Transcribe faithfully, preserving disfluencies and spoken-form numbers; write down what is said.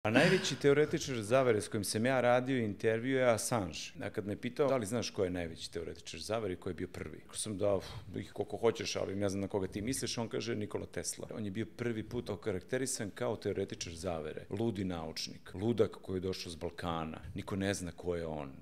A najveći teoretičar zavere s kojim sam ja radio intervju je Assange. A kad me pitao da li znaš ko je najveći teoretičar zavere i ko je bio prvi, ko sam dao ih koliko hoćeš, ali ne znam na koga ti misliš, on kaže Nikola Tesla. On je bio prvi put okarakterisan kao teoretičar zavere, ludi naučnik, ludak koji je došao s Balkana, niko ne zna ko je on.